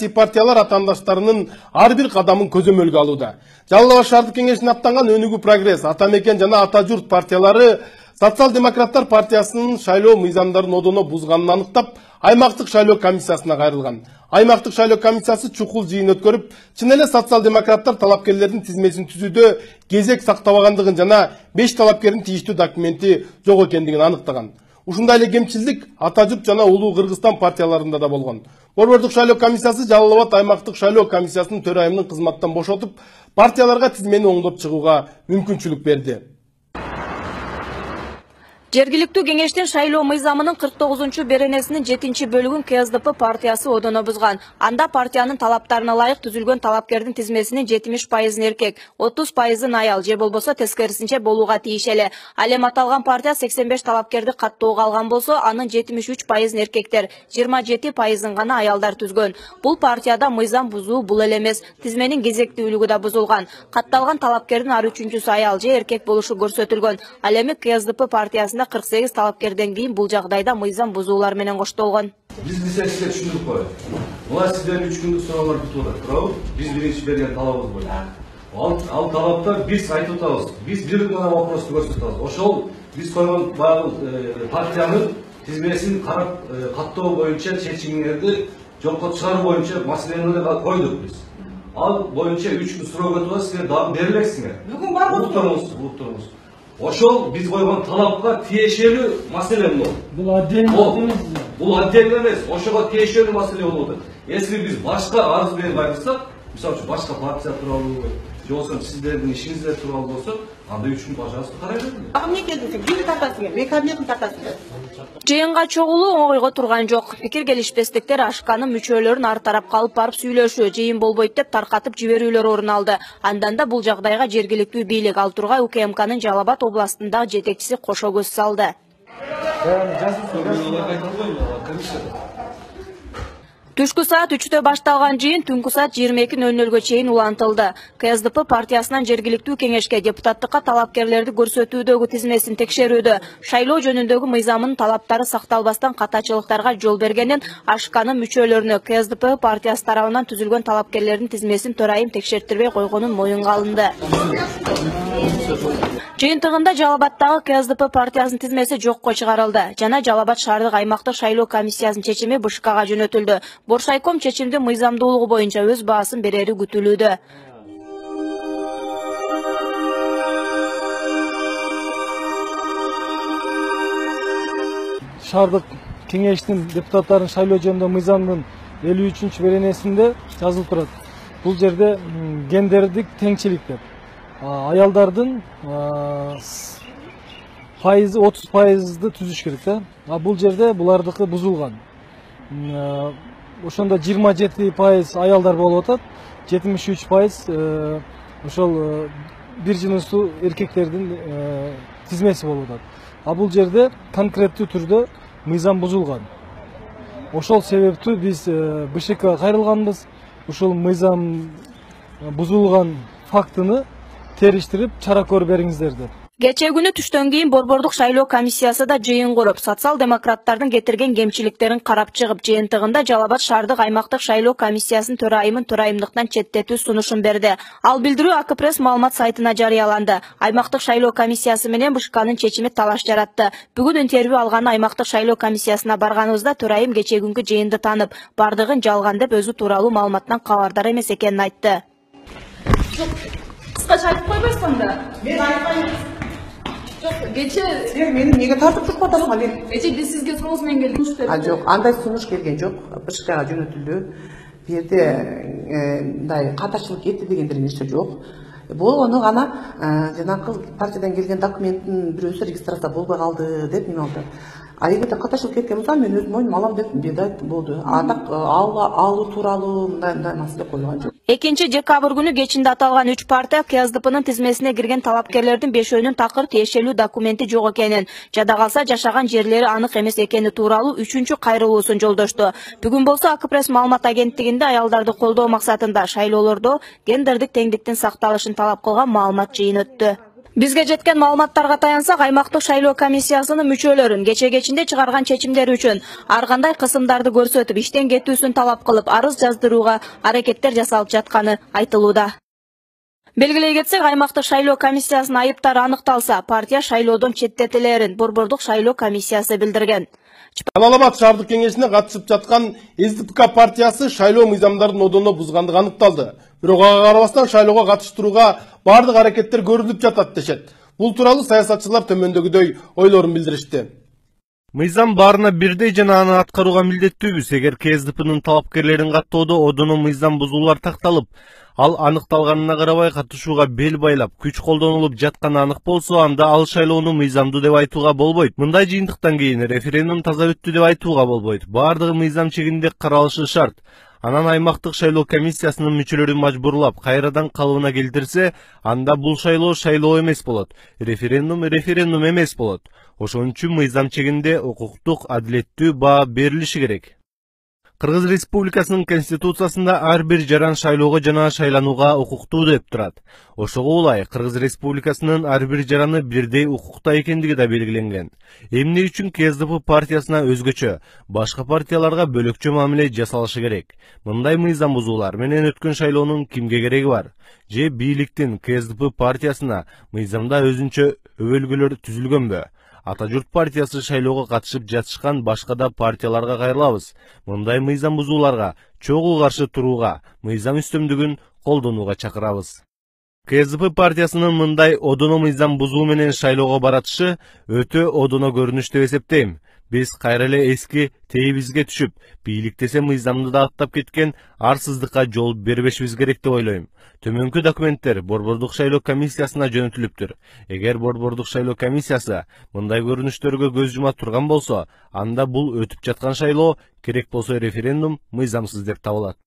саясий партиялар атаандаштарынын ар бир кадамын көзөмөлгө алууда. Жалал Абад шаардык кеңешине аттанган Өнүгүү Прогресс, Ата мекен жана Ата журт партиялары Социал-демократтар партиясынын шайлоо мыйзамдарын одоно бузганын аныктап, аймактык шайлоо комиссиясына кайрылган. Аймактык шайлоо комиссиясы чукул жыйын өткөрүп, чын эле социал-демократтар талапкерлердин тизмесин түзүүдө кезек сактабагандыгын жана 5 талапкердин тийиштүү документи жок экендигин аныктаган. Ушундай эле кемчилдик Ата журт жана Улуу Кыргызстан партияларында да болгон. Борбордук шайлоо комиссиясы Жалал Абад аймактык шайлоо комиссиясынын төрайымынын кызматтан бошотуп, партияларга тизмени оңдоп чыгууга мүмкүнчүлүк берди. Жергиликтүү кеңештин шайлоо мыйзамынын 49-чу беренесинин 7-бөлүгүн КСДП партиясы одоно бузган. Анда партиянын талаптарына ылайык түзүлгөн талапкердин тизмесинин 70% эркек, 30% аял же болбосо тескерисинче болууга тиешелүү. Ал эми аталган партия 85 талапкерди каттоого алган болсо, анын 73% эркектер, 27% гана аялдар түзгөн. Бул партияда мыйзам бузуу бул эле эмес, тизменин кезектүүлүгү да бузулган. Катталган талапкердин ар үчүнчүсү аял же эркек болушу көрсөтүлгөн. Ал эми КСДП партиясында 48 талапкерден кийин бул жагдайда мыйзам бузуулар менен коштолгон. Биз сизге түшүндүрүп коелу. Мына сиздердин 3 күндүк суроолор бүтүп атат, туурабы? Биз биринчи берген талабыбыз боюнча. Ал талапта биз айтып атабыз. Биз бир гана вопросту көрсөтүп атабыз. Ошол биз койгон баягы партиянын тизмесин карап каттоо боюнча чечимиңерди жокко чыгаруу боюнча маселени койдук биз. Ал боюнча 3 күн суроо өтүп атат, силер дагы бере элексиңер. Бүгүн барбы? Уктуруңуз. Ошол биз койгон талапка тиешелүү маселе бул. Бул отдельно эмес. Бул отдельно эмес. Ошого тиешелүү маселе болуп атат. Если биз башка арыз берип айрылсак, мисалы үчүн башка партия тууралуу, же болбосо сиздердин ишиңиздер тууралуу болсо, анда 3 күн пожалуйста карай бериңер. Эмне келдиңиз? Бир тартасыңар, мен кабинетин тартасыңар. Жыйынга чогулуу оңойго турган жок. Пикир келишпестиктер ашканын мүчөлөрүн ар тарап калып барып сүйлөшүү, жыйын болбойт деп таркатып жиберүүлөр орун алды. Андан да бул жагдайга жергиликтүү бийлик ал тургай УКМКнын Жалал Абад областындагы жетекчиси кошо көз салды. Түшкү саат 3-тө башталган жыйын түнкү саат 22:00 чейин улантылды. КСДП партиясынан жергиликтүү кеңешке депутаттыкка талапкерлерди көрсөтүүдөгү тизмесин текшерүүдө, шайлоо жөнүндөгү мыйзамынын талаптары сакталбастан катачылыктарга жол бергенин ашканын мүчөлөрүнө КСДП партиясы тарабынан түзүлгөн талапкерлердин тизмесин төрайым текшертирбей койгонун моюнга алынды. Жыйынтыгында Жалал Абадтагы КСДП партиясынын тизмеси жокко чыгарылды жана Жалал Абад шаардык аймактык шайлоо комиссиясынын чечими БШКга жөнөтүлдү. Боршайком чечимдин мыйзамдуулугу боюнча өз баасын берери күтүлүүдө. Шаардык кеңештин депутаттарын шайлоо жөнүндө мыйзамдын 53-чү беренесинде жазылып турат. Бул жерде гендердик теңчилик деп. Аялдардын пайызы 30%ды түзүш керек да. Бул жерде булардыкы бузулган. Ошондо 27% аялдар болуп атат, 73% ошол бир жыныстуу эркектердин тизмеси болуп атат. Бул жерде конкреттүү түрдө мыйзам бузулган. Ошол себептүү биз БШКга кайрылганбыз. Ушул мыйзам бузулган фактыны териштирип чара көрүп бериңиздер деп. Кечээ күнү түштөн кийин Борбордук шайлоо комиссиясы да жыйын куруп, социал-демократтардын кетирген кемчиликтерин карап чыгып, жыйынтыгында Жалал Абад шаардык аймактык шайлоо комиссиясынын төрайымын төрайымдыктан четтетүү сунушун берди. Ал билдирүү АК-пресс маалымат сайтына жарыяланды. Аймактык шайлоо комиссиясы менен БШКнын чечими талаш жаратты. Бүгүн интервью алган аймактык шайлоо комиссиясына барганыбызда төрайым кечээ күнгү жыйынды таанып, бардыгын жалган деп өзү тууралуу маалыматтан кабардар эмес экенин айтты. Кыскача айтып койбойсуң да? Мен айтпайм. Кечээ силер мени эмнеге тартып чыкып атасыңар? Кечээ биз сизге сунуш менен келдик. Жок, андай сунуш келген жок. БШКга жөнөтүлдү. Бу жерде мындай катачылык этти дегендер нерсе жок. Болгону гана жанагы партиядан келген документтин бирөөсү регистрация болбой калды деп неме алды. А эгерде катачылык кеткен болсо мен өз моюнума алам деп бедайт болду. Так алуу тууралуу мындай маселе коюлган жок. 2-декабрь күнү кечинде аталган 3 партия КСДПнын тизмесине кирген талапкерлердин 5-өөнүн такыр тиешелүү документи жок экенин, жада калса жашаган жерлери анык эмес экени тууралуу 3-чү кайрылуусун жолдошту. Бүгүн болсо АК-пресс маалымат агенттигинде аялдарды колдоо максатында шайлоолордо гендердик теңдиктин сакталышын талап кылган маалымат жыйын өттү. Бизге жеткен маалыматтарга таянсак, аймактык шайлоо комиссиясынын мүчөлөрүн кече-кечинде чыгарган чечимдери үчүн ар кандай кысымдарды көрсөтүп, иштен кетүүсүн талап кылып, арыз жаздырууга аракеттер жасалып жатканы айтылууда. Белгилей кетсек, аймактык шайлоо комиссиясынын айыптары аныкталса, партия шайлоодон четтетилерин Борбордук шайлоо комиссиясы билдирген. Жалал Абад шаардык кеңешине катышып жаткан СДПК партиясы шайлоо мыйзамдарын одоно бузгандыгы аныкталды. Бирок ага карабастан шайлоого катыштырууга бардык аракеттер көрүлүп жатат дешет. Бул тууралуу саясатчылар төмөндөгүдөй ойлорун билдиришти. Мыйзам баарына бирдей жана аны аткарууга милдеттүүбүз. Эгер КСДПнын талапкерлерин каттоодо одоно мыйзам бузуулар такталып, ал аныкталганына карабай катышууга бел байлап, күч колдонулуп жатканы анык болсо, анда ал шайлоону мыйзамдуу деп айтууга болбойт. Мындай жыйынтыктан кийин референдум таза өттү деп айтууга болбойт. Бардыгы мыйзам чегинде каралышы шарт. Анан аймактык шайлоо комиссиясынын мүчөлөрүн мажбурлап кайрадан калыбына келтирсе, анда бул шайлоо эмес болот. Референдум эмес болот. Ошон үчүн мыйзам чегинде укуктук, адилеттүү баа берилиши керек. Кыргыз Республикасынын Конституциясында ар бир жаран шайлоого жана шайланууга укуктуу деп турат. Ошого улай Кыргыз Республикасынын ар бир жараны бирдей укукта экендиги да белгиленген. Эмне үчүн КСДП партиясына өзгөчө, башка партияларга бөлөкчө мамиле жасалышы керек? Мындай мыйзам бузуулар менен өткөн шайлоонун кимге кереги бар? Же бийликтин КСДП партиясына мыйзамда өзүнчө өбөлгөлөр түзүлгөнбү? Ата журт партиясы шайлоого катышып жатышкан башка да партияларга кайрылабыз. Мындай мыйзам бузууларга чогуу каршы турууга, мыйзам үстөмдүгүн колдонууга чакырабыз. КСДП партиясынын мындай одоно мыйзам бузуу менен шайлоого баратышы өтө одоно көрүнүш деп эсептейм. Биз кайра эле эски тээбизге түшүп, бийликтесе мыйзамды да аттап кеткен арсыздыкка жол бербешибиз керек деп ойлойм. Төмөнкү документтер Борбордук шайлоо комиссиясына жөнөтүлүптүр. Эгер Борбордук шайлоо комиссиясы мындай көрүнүштөргө көз жума турган болсо, анда бул өтүп жаткан шайлоо, керек болсо референдум мыйзамсыз деп табылат.